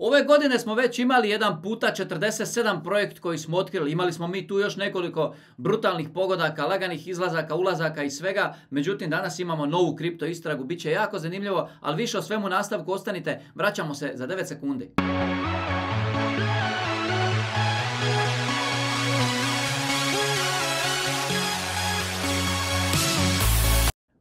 Ove godine smo već imali jedan puta 47 projekt koji smo otkrili. Imali smo mi tu još nekoliko brutalnih pogodaka, laganih izlazaka, ulazaka i svega. Međutim, danas imamo novu kripto istragu. Biće jako zanimljivo, ali više o svemu nastavku ostanite. Vraćamo se za 9 sekundi.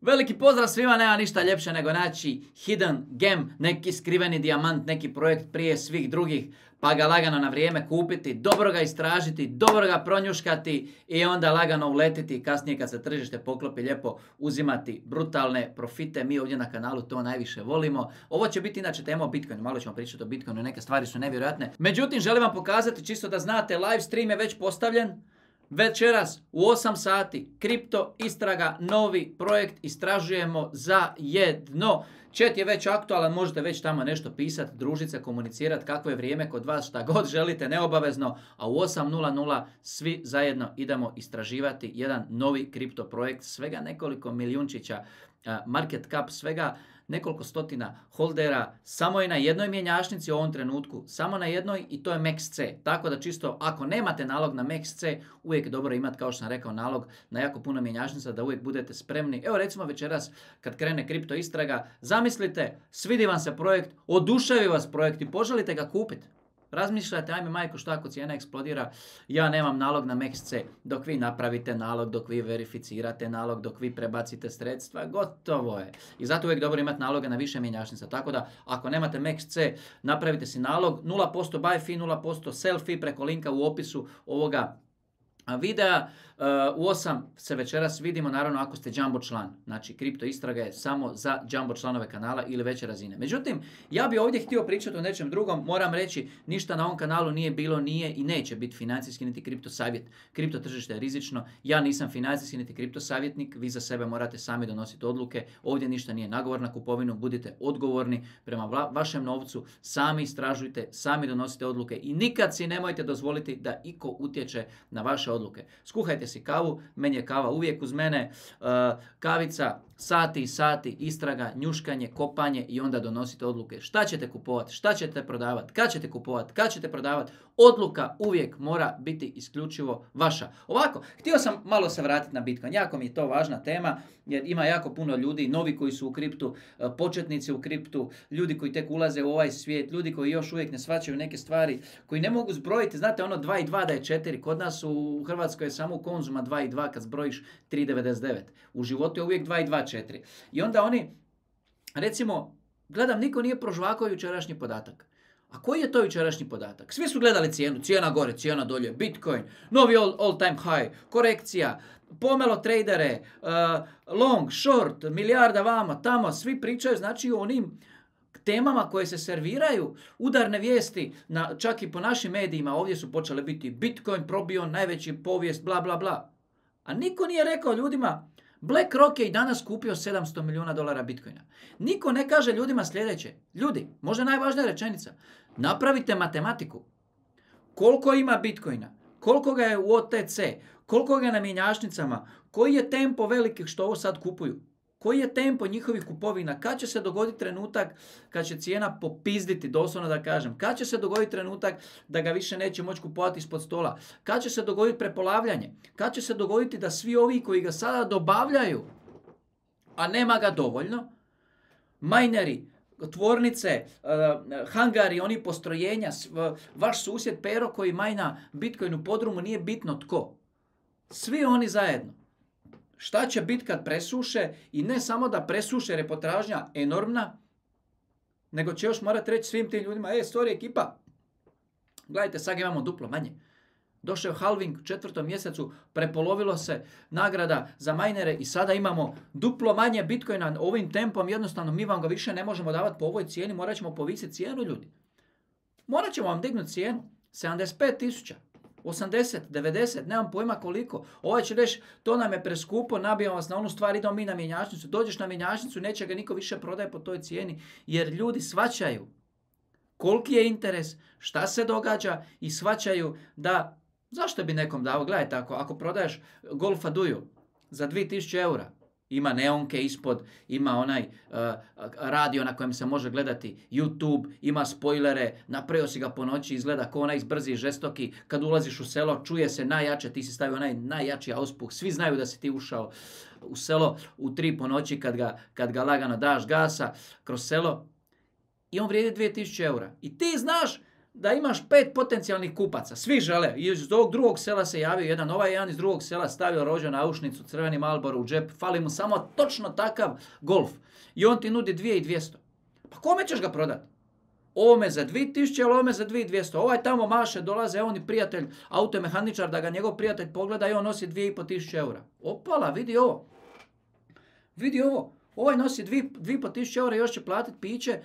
Veliki pozdrav svima, nema ništa ljepše nego naći hidden gem, neki skriveni dijamant, neki projekt prije svih drugih, pa ga lagano na vrijeme kupiti, dobro ga istražiti, dobro ga pronjuškati i onda lagano uletiti i kasnije kad se tržište poklopi lijepo uzimati brutalne profite. Mi ovdje na kanalu to najviše volimo. Ovo će biti inače tema o Bitcoinu, malo ćemo pričati o Bitcoinu, neke stvari su nevjerojatne. Međutim, želim vam pokazati čisto da znate, live stream je već postavljen. Večeras u 8 sati, kripto istraga, novi projekt, istražujemo zajedno. Chat je već aktualan, možete već tamo nešto pisati, družiti se, komunicirati kako je vrijeme kod vas, šta god želite, neobavezno. A u 8:00 svi zajedno idemo istraživati jedan novi kripto projekt, svega nekoliko milijunčića market cap, svega nekoliko stotina holdera, samo je na jednoj mjenjačnici u ovom trenutku, samo na jednoj i to je MEXC. Tako da čisto ako nemate nalog na MEXC, uvijek je dobro imati, kao što sam rekao, nalog na jako puno mjenjačnica da uvijek budete spremni. Evo recimo večeras kad krene kripto istraga, zamislite, svidi vam se projekt, oduševi vas projekt i poželite ga kupiti. Razmišljate, ajme majko, šta ako cijena eksplodira, ja nemam nalog na MEXC. Dok vi napravite nalog, dok vi verificirate nalog, dok vi prebacite sredstva, gotovo je. I zato uvijek dobro imati naloga na više mjenjačnica. Tako da, ako nemate MEXC, napravite si nalog, 0% buy fee, 0% sell fee preko linka u opisu ovoga videa. U 8 se večeras vidimo, naravno ako ste jumbo član. Znači, kripto istraga je samo za jumbo članove kanala ili veće razine. Međutim, ja bi ovdje htio pričati o nečem drugom. Moram reći, ništa na ovom kanalu nije bilo, nije i neće biti financijski niti kripto savjet. Kripto tržište je rizično. Ja nisam financijski niti kripto savjetnik. Vi za sebe morate sami donositi odluke. Ovdje ništa nije nagovor na kupovinu. Budite odgovorni prema vašem novcu. Sami istražujte, sami donosite odluke i nikad si nemojte dozvoliti da iko utječe na vaše odluke. Skuhajte si kavu, meni je kava uvijek uz mene, kavica, sati i sati, istraga, njuškanje, kopanje i onda donosite odluke. Šta ćete kupovati, šta ćete prodavati, kad ćete kupovati, kad ćete prodavati. Odluka uvijek mora biti isključivo vaša. Ovako, htio sam malo se vratiti na Bitcoin. Jako mi je to važna tema jer ima jako puno ljudi, novi koji su u kriptu, početnici u kriptu, ljudi koji tek ulaze u ovaj svijet, ljudi koji još uvijek ne shvaćaju neke stvari, koji ne mogu zbrojiti, znate ono 2 i 2 da je 4, kod nas u Hrvatskoj je samo u Konzuma 2 i 2 kad zbrojiš 3,99. U životu je uvijek 2 i 2, 4. I onda oni, recimo, gledam, niko nije prožvakao jučerašnji podatak. A koji je to jučerašnji podatak? Svi su gledali cijenu, cijena gore, cijena dolje, Bitcoin, novi all time high, korekcija, pomelo tradere, long, short, milijarda vama, tamo, svi pričaju, znači o onim temama koje se serviraju, udarne vijesti, čak i po našim medijima, ovdje su počele biti Bitcoin probio najveći povijest, bla bla bla. A niko nije rekao ljudima, BlackRock je i danas kupio $700 milijuna Bitcoina. Niko ne kaže ljudima sljedeće. Ljudi, možda najvažnija rečenica. Napravite matematiku. Koliko ima Bitcoina? Koliko ga je u OTC? Koliko ga je na mjenjačnicama? Koji je tempo velikih što ovo sad kupuju? Koji je tempo njihovih kupovina? Kad će se dogoditi trenutak kad će cijena popizditi, doslovno da kažem? Kad će se dogoditi trenutak da ga više neće moći kupovati ispod stola? Kad će se dogoditi prepolavljanje? Kad će se dogoditi da svi ovi koji ga sada dobavljaju, a nema ga dovoljno, majneri, tvornice, hangari, oni postrojenja, vaš susjed Pero koji majna Bitcoin u podrumu, nije bitno tko. Svi oni zajedno. Šta će biti kad presuše i ne samo da presuše jer je potražnja enormna, nego će još morati reći svim tim ljudima, sorry ekipa, gledajte, sad imamo duplo manje. Došao je halving u 4. mjesecu, prepolovilo se nagrada za majnere i sada imamo duplo manje Bitcoina ovim tempom, jednostavno mi vam ga više ne možemo davati po ovoj cijeni, morat ćemo povisiti cijenu ljudi. Morat ćemo vam dignuti cijenu, 75.000. 80, 90, nemam pojma koliko. Ovaj će reći, to nam je preskupo, nabijamo vas na onu stvar, idemo mi na mjenjačnicu. Dođeš na mjenjačnicu, neće ga niko više prodaje po toj cijeni, jer ljudi shvaćaju koliki je interes, šta se događa i shvaćaju da, zašto bi nekom dao, gledajte, ako prodaješ Golfa Duju za 2000 eura, Ima neonke ispod, ima onaj radio na kojem se može gledati YouTube, ima spoilere, napravio si ga po noći, izgleda kao onaj brzi i žestoki. Kad ulaziš u selo, čuje se najjače, ti si stavio onaj najjači auspuh. Svi znaju da si ti ušao u selo u 3 po noći kad ga lagano daš gasa kroz selo. I on vrijedi 2000 eura. I ti znaš da imaš 5 potencijalnih kupaca. Svi žele. Iz ovog drugog sela se javio jedan, ovaj jedan iz drugog sela stavio rođo na aušnicu, crveni Marlboro u džep, fali mu samo točno takav Golf. I on ti nudi 2200. Pa kome ćeš ga prodati? Ovome za 2000 ili ovome za 2200. Ovaj tamo maše, dolaze, on i prijatelj, automehaničar, da ga njegov prijatelj pogleda i on nosi 2500 eura. Opala, vidi ovo. Vidi ovo. Ovaj nosi 2500 eura i još će platiti piće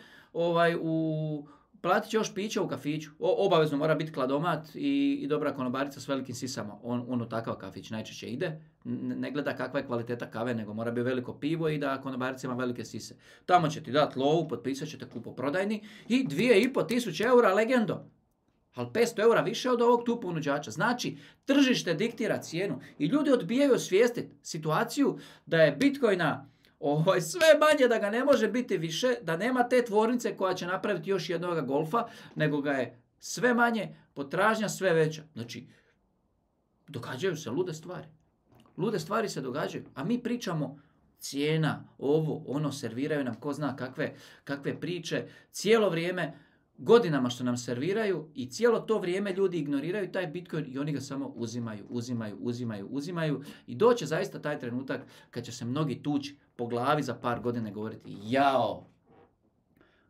platit će još piće u kafiću. Obavezno mora biti kladomat i dobra konobarica s velikim sisama. On u takav kafić najčešće ide. Ne gleda kakva je kvaliteta kave, nego mora biti veliko pivo i da konobarica ima velike sise. Tamo će ti dati lovu, potpisat ćete kupoprodajni i 2500 eura legendo. Ali 500 eura više od ovog tu ponuđača. Znači, tržište diktira cijenu i ljudi odbijaju osvijestiti situaciju da je Bitcoina sve manje, da ga ne može biti više, da nema te tvornice koja će napraviti još jednog Golfa, nego ga je sve manje, potražnja sve veća. Znači, događaju se lude stvari. Lude stvari se događaju, a mi pričamo cijena, ovo, ono, serviraju nam ko zna kakve priče, cijelo vrijeme, godinama što nam serviraju i cijelo to vrijeme ljudi ignoriraju taj Bitcoin i oni ga samo uzimaju i doće zaista taj trenutak kad će se mnogi tući po glavi za par godina govoriti jao,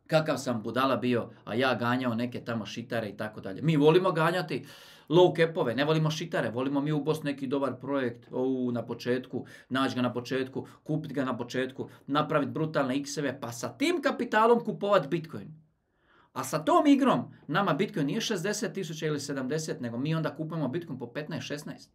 kakav sam budala bio, a ja ganjao neke tamo šitare i tako dalje. Mi volimo ganjati low capove, ne volimo šitare, volimo mi u Bosni neki dobar projekt na početku, naći ga na početku, kupiti ga na početku, napraviti brutalne x-eve, pa sa tim kapitalom kupovati Bitcoin. A sa tom igrom nama Bitcoin nije 60.000 ili 70, nego mi onda kupujemo Bitcoin po 15-16.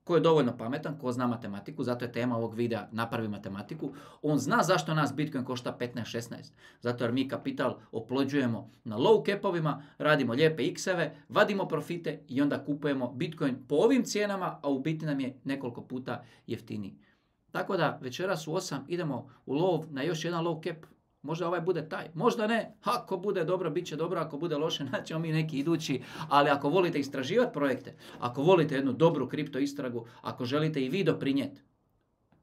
Ko je dovoljno pametan, ko zna matematiku, zato je tema ovog videa napravi matematiku, on zna zašto nas Bitcoin košta 15-16. Zato jer mi kapital oplođujemo na low capovima, radimo lijepe x-eve, vadimo profite i onda kupujemo Bitcoin po ovim cijenama, a u biti nam je nekoliko puta jeftiniji. Tako da večeras u 8 idemo u lov na još jedan low cap. Možda ovaj bude taj, možda ne. Ako bude dobro, bit će dobro. Ako bude loše, naćemo mi neki idući. Ali ako volite istraživati projekte, ako volite jednu dobru kripto istragu, ako želite i vi doprinijeti,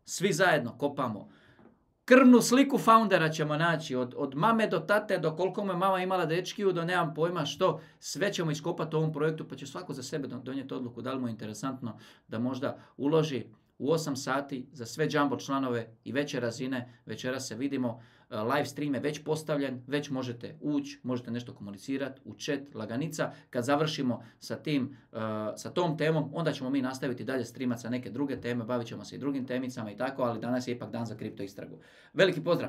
svi zajedno kopamo. Krvnu sliku foundera ćemo naći. Od mame do tate, do koliko me mama imala dečkiju, do nemam pojma što. Sve ćemo iskopati u ovom projektu, pa će svako za sebe donijeti odluku da li mu je interesantno da možda uloži u 8 sati za sve jumbo članove i veće razine. Večeras se vidimo. Live stream je već postavljen, već možete ući, možete nešto komunicirati u chat, laganica. Kad završimo sa tom temom, onda ćemo mi nastaviti dalje streamati sa neke druge teme, bavit ćemo se i drugim temicama i tako, ali danas je ipak dan za kripto istragu. Veliki pozdrav!